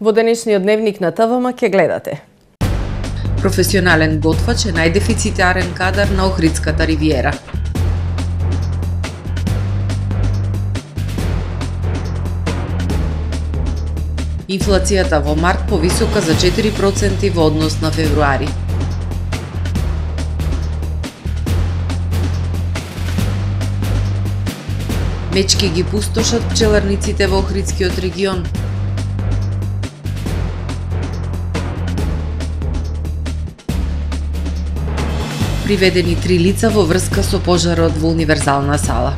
Во денешниот дневник на ТВМ ќе гледате. Професионален готвач е најдефицитарен кадар на Охридската ривиера. Инфлацијата во март повисока за 4% во однос на февруари. Мечки ги пустошат пчеларниците во Охридскиот регион. Приведени 3 лица во врска со пожарот во универзална сала.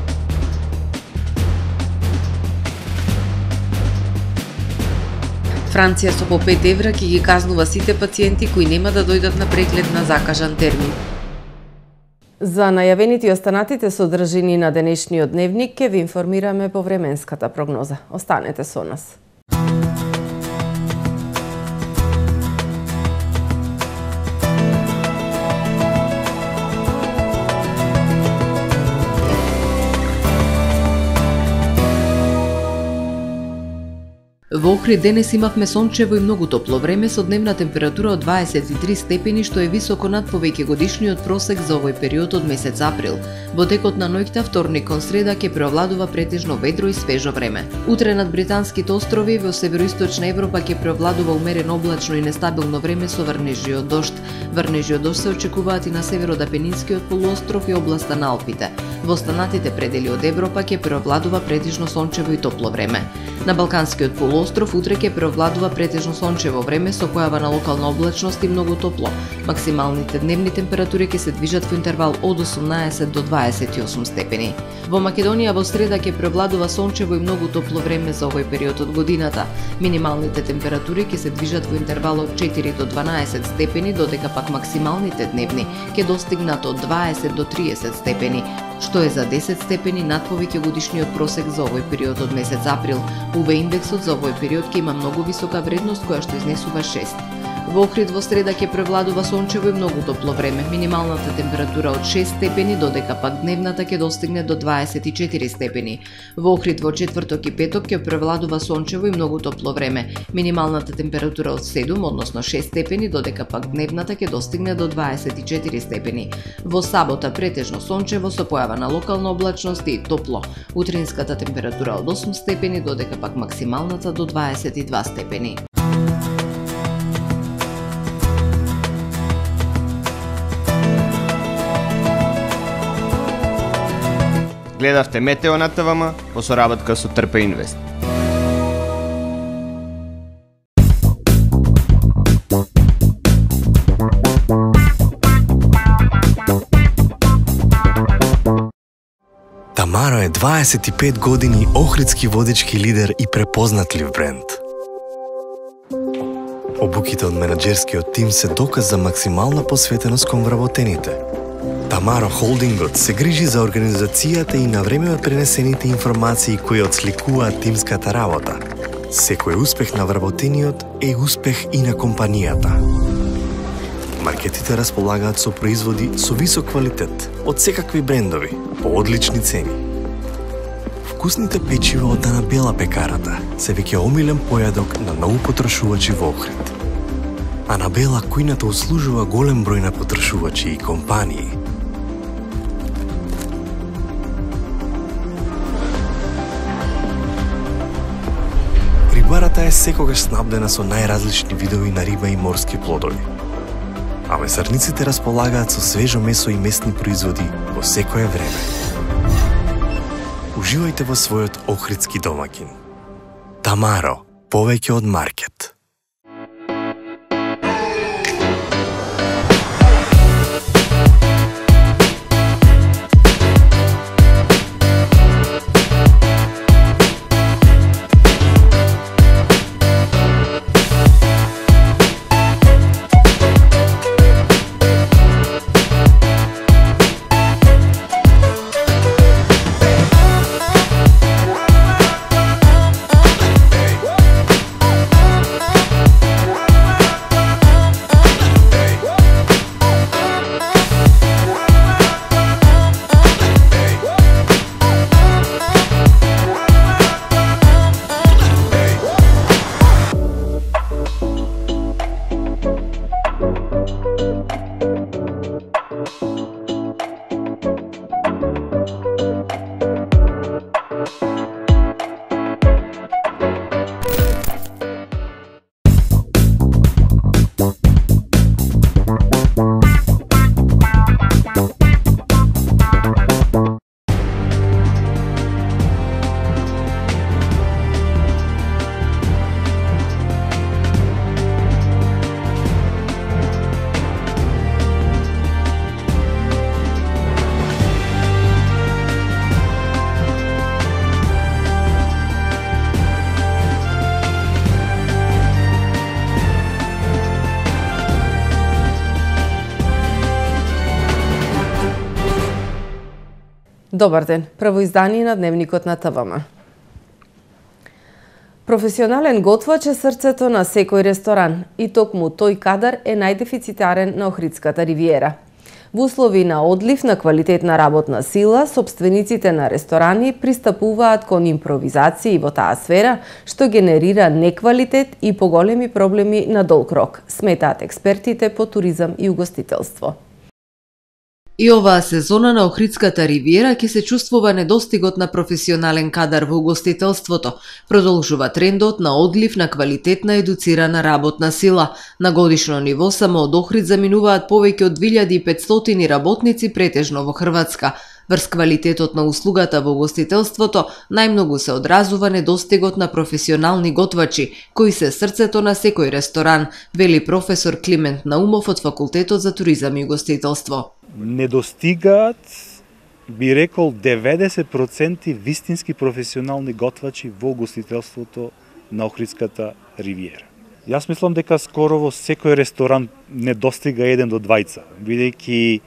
Франција со по 5 евра ќе ги казнува сите пациенти кои нема да дојдат на преглед на закажан термин. За најавените и останатите содржини на денешниот дневник ќе ви информираме по временската прогноза. Останете со нас. Во Охрид денес имавме сончево и многу топло време со дневна температура од 23 степени, што е високо над повеќе годишниот просек за овој период од месец април. Во текот на ноќта вторник кон среда ќе преовладува претежно ведро и свежо време. Утре над британските острови во североисточна Европа ќе преовладува умерено облачно и нестабилно време со врнежи од дожд. Врнежи од дожд се очекуваат и на северот Апенинскиот полуостров и областа на Алпите. Во останатите предели од Европа ќе преовладува претежно сончево и топло време. На Балканскиот полуостров утре ќе преовладува претежно сончево време со појава на локална облачност и многу топло. Максималните дневни температури ќе се движат во интервал од 18 до 28 степени. Во Македонија во среда ќе преовладува сончево и многу топло време за овој период од годината. Минималните температури ќе се движат во интервал од 4 до 12 степени, додека пак максималните дневни ќе достигнат од 20 до 30 степени, што е за 10 степени над повеќе годишниот просек за овој период од месец април. УВ индексот за овој период ќе има многу висока вредност која што изнесува 6. Во Охрид во среда ќе превладува сончево и многу топло време. Минималната температура од 6 степени, додека пак дневната ќе достигне до 24 степени. Во Охрид во четврток и петок ќе превладува сончево и многу топло време. Минималната температура од 7, односно 6 степени, додека пак дневната ќе достигне до 24 степени. Во сабота претежно сончево со појава на локална облачност и топло. Утринската температура од 8 степени, додека пак максималната до 22 степени. Гледавте Метео на ТВМ по соработка со Трпа Инвест. Тамаро е 25 години охридски водички лидер и препознатлив бренд. Обуките од менаџерскиот тим се доказ за максимална посветеност кон вработените. Тамаро Холдингот се грижи за организацијата и на време пренесените информации кои отсликуваат тимската работа. Секој успех на вработениот е успех и на компанијата. Маркетите располагаат со производи со висок квалитет од секакви брендови по одлични цени. Вкусните печива од Анабела пекарата се веќе омилен појадок на многу потрошувачи во Охрид. Анабела кујната услужува голем број на потрошувачи и компании. Рибарата е секогаш снабдена со најразлични видови на риба и морски плодови. А месарниците располагаат со свежо месо и месни производи во секое време. Уживајте во својот охридски домаќин. Тамаро, повеќе од маркет. Добар ден, прво издание на Дневникот на ТВМ. Професионален готвач е срцето на секој ресторан и токму тој кадар е најдефицитарен на Охридската ривиера. Во услови на одлив на квалитетна работна сила, собствениците на ресторани пристапуваат кон импровизации во таа сфера, што генерира неквалитет и поголеми проблеми на долг рок, сметаат експертите по туризам и угостителство. И оваа сезона на Охридската ривиера ќе се чувствува недостигот на професионален кадар во угостителството. Продолжува трендот на одлив на квалитетна едуцирана работна сила. На годишно ниво само од Охрид заминуваат повеќе од 2500 работници претежно во Хрватска. Врз квалитетот на услугата во угостителството најмногу се одразува недостигот на професионални готвачи, кои се срцето на секој ресторан, вели професор Климент Наумов од Факултетот за туризам и угостителство. Недостигаат, би рекол, 90% вистински професионални готвачи во угостителството на Охридската ривиера. Јас мислам дека скоро во секој ресторан недостига 1 до 2, бидејќи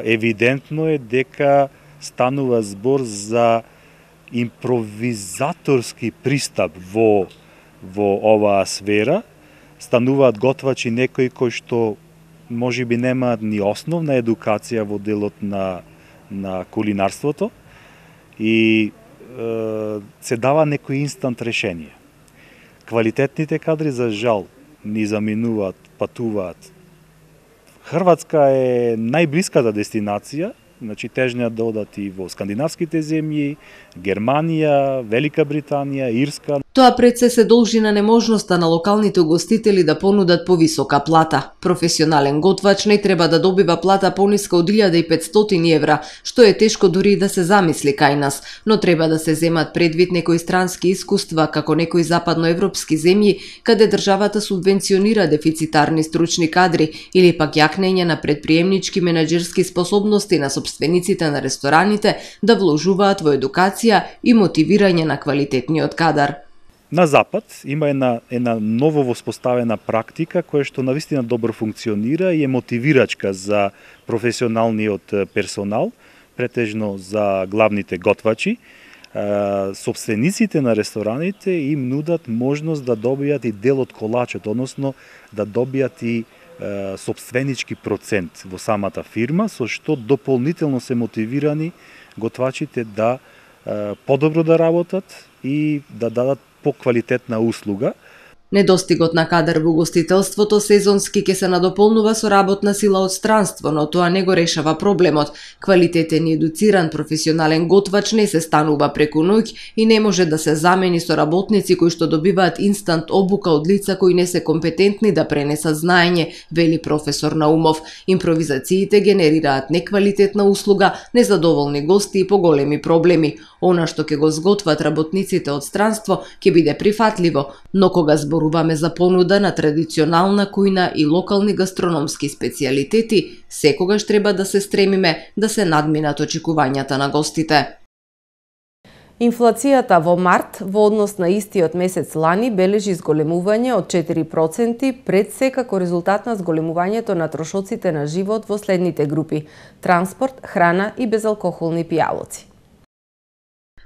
евидентно е дека станува збор за импровизаторски пристап во оваа сфера. Стануваат готвачи некои кои што може би немаат ни основна едукација во делот на кулинарството и се дава некој инстант решение. Квалитетните кадри за жал ни заминуваат, патуваат. Хрватска е најблиската дестинација, значи тежнеат да одат и во скандинавските земји, Германија, Велика Британија, Ирска. Тоа пред се должи на неможноста на локалните угостители да понудат повисока плата. Професионален готвач не треба да добива плата пониска од 1500 евра, што е тешко дури да се замисли кај нас, но треба да се земат предвид некои странски искуства, како некои западноевропски земји, каде државата субвенционира дефицитарни стручни кадри или пак јакнење на предприемнички менаџерски способности на собствениците на рестораните да вложуваат во едукација и мотивирање на квалитетниот кадар. На Запад има една ново воспоставена практика која што навистина добро функционира и е мотивирачка за професионалниот персонал, претежно за главните готвачи. Собствениците на рестораните им нудат можност да добијат и дел од колачот, односно да добијат и собственички процент во самата фирма, со што дополнително се мотивирани готвачите да подобро да работат и да дадат поквалитетна услуга. Недостигот на кадар во угостителството сезонски ќе се надополнува со работна сила од странство, но тоа не го решава проблемот. Квалитетен и едуциран професионален готвач не се станува преку ноќ и не може да се замени со работници кои што добиваат инстант обука од лица кои не се компетентни да пренесат знаење, вели професор Наумов. Импровизациите генерираат неквалитетна услуга, незадоволни гости и поголеми проблеми. Она што ќе го зготват работниците од странство ќе биде прифатливо, но кога зборуваме за понуда на традиционална кујна и локални гастрономски специјалитети, секогаш треба да се стремиме да се надминат очекувањата на гостите. Инфлацијата во март во однос на истиот месец лани бележи зголемување од 4% пред се како резултат на зголемувањето на трошоците на живот во следните групи: транспорт, храна и безалкохолни пијалоци.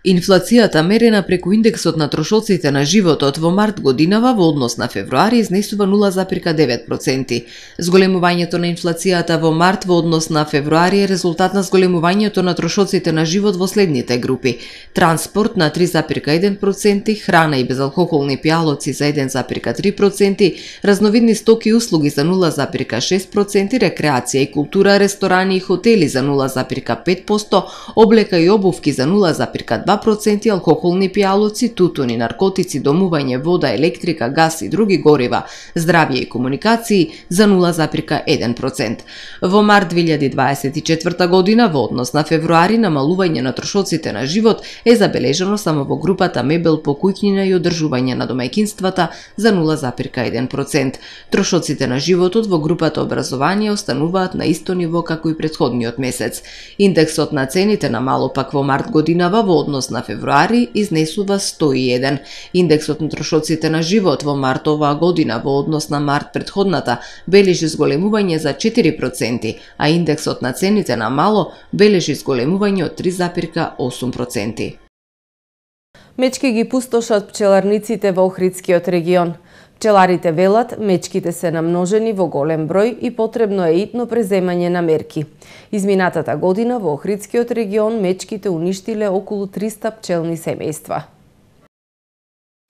Инфлацијата мерена преку индексот на трошоците на животот во март годинава во однос на февруари изнесува 0,9%. Зголемувањето на инфлацијата во март во однос на февруари е резултат на зголемувањето на трошоците на живот во следните групи: транспорт на 3,1%, храна и безалкохолни пијалоци за 1,3%, разновидни стоки и услуги за 0,6%, рекреација и култура, ресторани и хотели за 0,5%, облека и обувки за 0,2%, алкохолни пијалоци, тутун и наркотици, домување, вода, електрика, газ и други горива, здравје и комуникации за 0,1%. Во март 2024 година во однос на февруари намалување на трошоците на живот е забележано само во групата мебел, покуќнина и одржување на домаќинствата за 0,1%. Трошоците на животот во групата образование остануваат на исто ниво како и претходниот месец. Индексот на цените намало пак во март годинава во однос однос на февруари изнесува 101. Индексот на трошоците на живот во март оваа година во однос на март претходната бележи зголемување за 4%, а индексот на цените на мало бележи зголемување од 3,8%. Мечки ги пустошат пчеларниците во Охридскиот регион. Пчеларите велат, мечките се намножени во голем број и потребно е итно преземање на мерки. Изминатата година во Охридскиот регион мечките уништиле околу 300 пчелни семејства.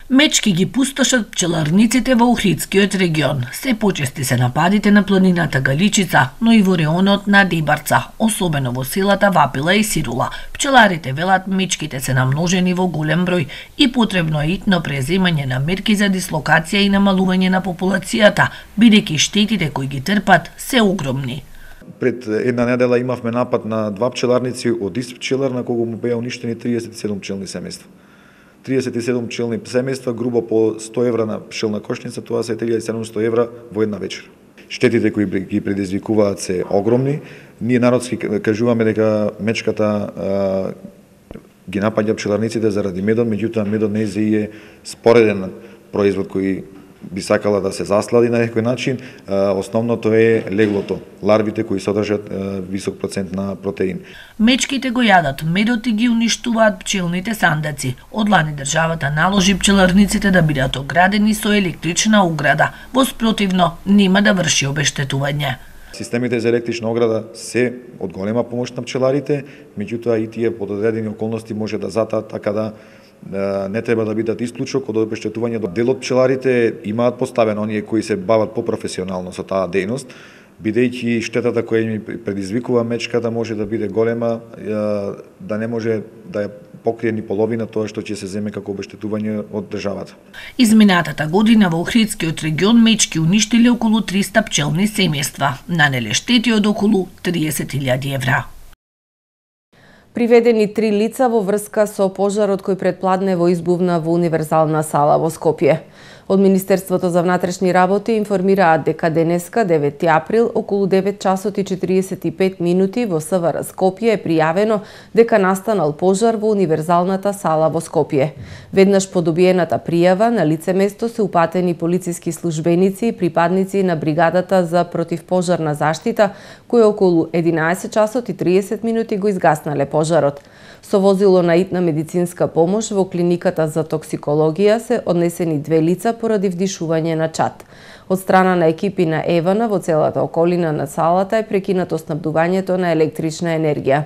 Мечки ги пустошат пчеларниците во Охридскиот регион. Се почести се нападите на планината Галичица, но и во реонот на Дебарца, особено во селата Вапила и Сирула. Пчеларите велат мечките се намножени во голем број и потребно е итно преземање на мерки за дислокација и намалување на популацијата, бидејќи штетите кои ги трпат се огромни. Пред една недела имавме напад на 2 пчеларници од ист пчелар на кого му беа уништени 37 пчелни семејства. 37 пчелни семејства, грубо по 100 евра на пчелна кошница, тоа се 1700 евра во една вечер. Штетите кои ги предизвикуваат се огромни. Ние народски кажуваме дека мечката ги напаѓа пчеларниците заради медот, меѓутоа медот не е спореден производ кој би сакала да се заслади на некој начин. Основното е леглото, ларвите кои содржат висок процент на протеин. Мечките го јадат медот и ги уништуваат пчелните сандаци. Одлани државата наложи пчеларниците да бидат оградени со електрична ограда. Во спротивно нема да врши обештетување. Системите за електрична ограда се од голема помош на пчеларите, меѓутоа и тие под одредени околности може да затаат, така да не треба да бидат исклучок од обештетување. Дел од пчеларите имаат поставено оние кои се бават попрофесионално со таа дејност, бидејќи штетата која ми предизвикува мечката може да биде голема, да не може да ја покрие ни половина тоа што ќе се земе како обештетување од државата. Изминатата година во Охридскиот регион мечки уништиле околу 300 пчелни семејства, нанеле штети од околу 30.000 евра. Приведени 3 лица во врска со пожарот кој предпладнево избувна во универзална сала во Скопје. Од Министерството за внатрешни работи информираат дека денеска, 9 април, околу 9 часот и 45 минути во СВР Скопје е пријавено дека настанал пожар во универзалната сала во Скопје. Веднаш по добиената пријава на лице место се упатени полициски службеници и припадници на бригадата за противпожарна заштита, кои околу 11 часот и 30 минути го изгаснале пожарот. Со возило на итна медицинска помош во клиниката за токсикологија се однесени 2 лица поради вдишување на чад. Од страна на екипи на Евана во целата околина на салата е прекинато снабдувањето на електрична енергија.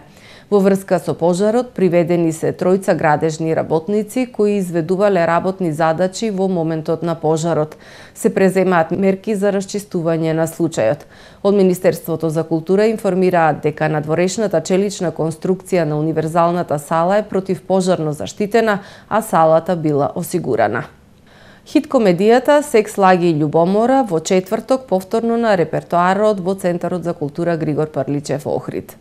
Во врска со пожарот приведени се 3 градежни работници кои изведувале работни задачи во моментот на пожарот. Се преземаат мерки за расчистување на случајот. Од Министерството за култура информираат дека надворешната челична конструкција на универзалната сала е противпожарно заштитена, а салата била осигурана. Хит комедијата "Секс, лаги и љубомора" во четврток повторно на репертоарот во Центарот за култура Григор Парличев во Охрид.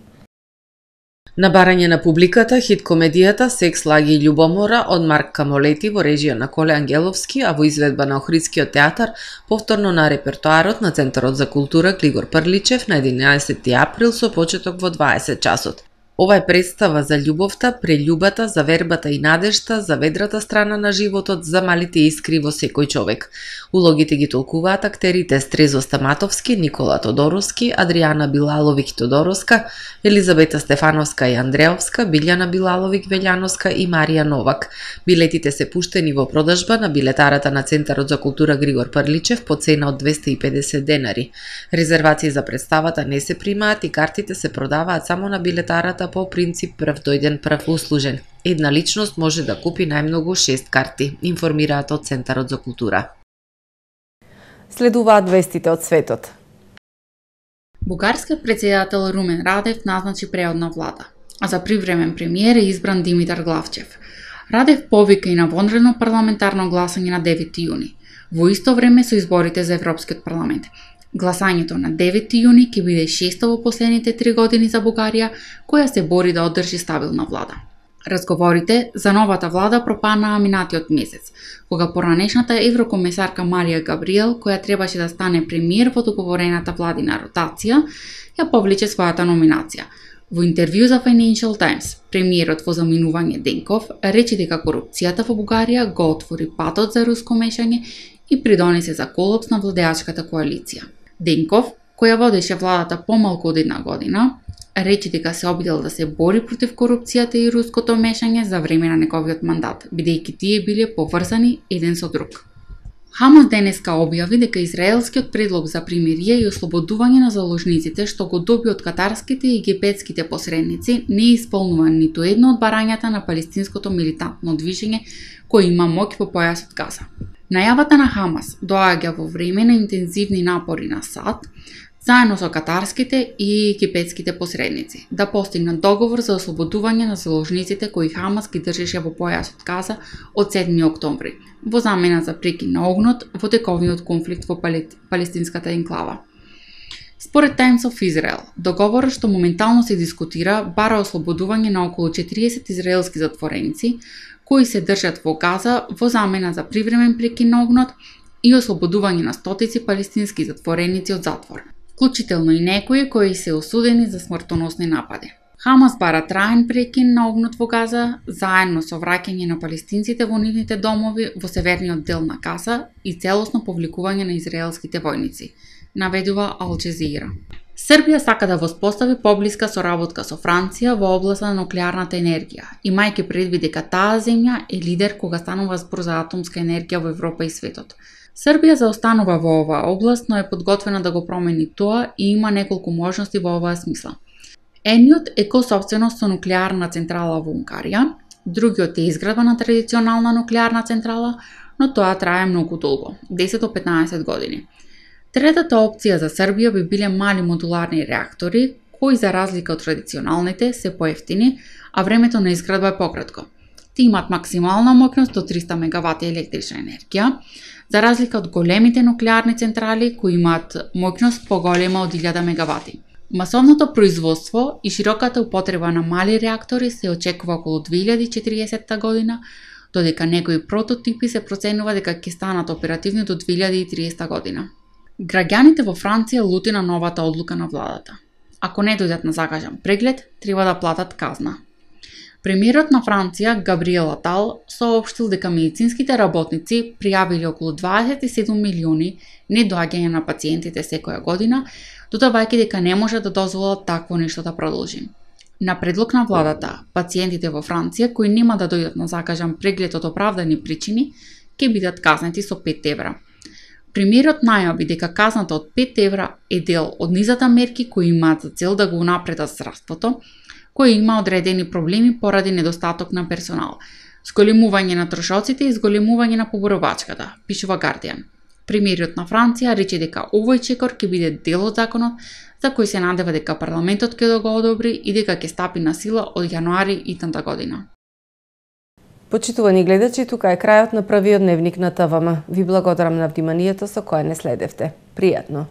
На барање на публиката, хит комедијата "Секс, лаги и љубомора" од Марк Камолети во режија на Коле Ангеловски, а во изведба на Охридскиот театар, повторно на репертоарот на Центарот за култура Григор Парличев на 11 април со почеток во 20 часот. Ова е представа за љубовта, прељубата, за вербата и надежта, за ведрата страна на животот, за малите искри во секој човек. Улогите ги толкуваат актерите Стрезо Стаматовски, Никола Тодоровски, Адријана Билаловик-Тодороска, Елизабета Стефановска и Андреовска, Билјана Билаловик-Велјановска и Марија Новак. Билетите се пуштени во продажба на билетарата на Центарот за култура Григор Парличев по цена од 250 денари. Резервации за представата не се примаат и картите се продаваат само на билетарата по принцип прв дојден прв услужен. Една личност може да купи најмногу 6 карти, информираат од Центарот за култура. Следуваат вестите од светот. Бугарскиот претседател Румен Радев назначи преодна влада, а за привремен премиер е избран Димитар Главчев. Радев повика и на вонредно парламентарно гласање на 9 јуни, во исто време со изборите за Европскиот парламент. Гласањето на 9 јуни ќе биде шесто во последните 3 години за Бугарија, која се бори да одржи стабилна влада. Разговорите за новата влада пропанаа минатиот месец, кога поранешната еврокомесарка Марија Габриел, која требаше да стане премиер во договорената владина ротација, ја повлече својата номинација. Во интервју за Financial Times, премиерот во заминување Денков рече дека корупцијата во Бугарија го отвори патот за руско мешање и придонесе за колапс на владеачката коалиција. Денков, која водеше владата помалку од една година, рече дека се обидел да се бори против корупцијата и руското мешање за време на неговиот мандат, бидејќи тие биле поврзани еден со друг. Хамас денеска објави дека израелскиот предлог за примирие и ослободување на заложниците што го доби од катарските и египетските посредници не исполнува ниту едно од барањата на палестинското милитантно движење кој има моќ по појасот Газа. Најавата на Хамас доаѓа во време на интензивни напори на САД заедно со катарските и египетските посредници да постигнат договор за ослободување на заложниците кои Хамас ги држеше во појасот Газа од 7 октомври, во замена за прекин на огнот во тековниот конфликт во палестинската енклава. Според Times of Israel, договорот што моментално се дискутира бара ослободување на околу 40 израелски затвореници кои се држат во Газа во замена за привремен прекин на огнот и ослободување на стотици палестински затвореници од затвор, вклучително и некои кои се осудени за смртоносни напади. Хамас бара траен прекин на огнот во Газа, заедно со враќање на палестинците во нивните домови во северниот дел на Газа и целосно повликување на израелските војници, наведува Ал Џезира. Србија сака да воспостави поблиска соработка со Франција во областа на нуклеарната енергија, имајќи предвид дека таа земја е лидер кога станува збор за атомска енергија во Европа и светот. Србија заостанува во оваа област, но е подготвена да го промени тоа и има неколку можности во оваа смисла. Едниот е косопственост со нуклеарна централа во Унгарија, другиот е изградба на традиционална нуклеарна централа, но тоа трае многу долго, 10 до 15 години. Третата опција за Србија би биле мали модуларни реактори, кои за разлика од традиционалните се поевтини, а времето на изградба е пократко. Ти имат максимална моќност до 300 мегавати електрична енергија, за разлика од големите нуклеарни централи кои имаат моќност поголема од 1000 мегавати. Масовното производство и широката употреба на мали реактори се очекува околу 2040 година, додека некои прототипи се проценува дека ќе станат оперативни до 2030 година. Граѓаните во Франција лути на новата одлука на владата. Ако не дојдат на закажан преглед, треба да платат казна. Премиерот на Франција, Габриел Атал, соопштил дека медицинските работници пријавиле околу 27 милиони недоаѓања на пациентите секоја година, додавајќи дека не може да дозволат такво нешто да продолжи. На предлог на владата, пациентите во Франција кои нема да дојдат на закажан преглед од оправдани причини, ќе бидат казнети со 5 евра. Премиерот најави дека казната од 5 евра е дел од низата мерки кои имаат за цел да го унапредат здравството, кој има одредени проблеми поради недостаток на персонал, зголемување на трошоците и зголемување на поборовачката, пишува Guardian. Премиерот на Франција рече дека овој чекор ќе биде дел од законот за кој се надева дека парламентот ќе го одобри и дека ќе стапи на сила од јануари итната година. Почитувани гледачи, тука е крајот на првиот дневник на ТВМ. Ви благодарам на вниманието со кое не следевте. Пријатно!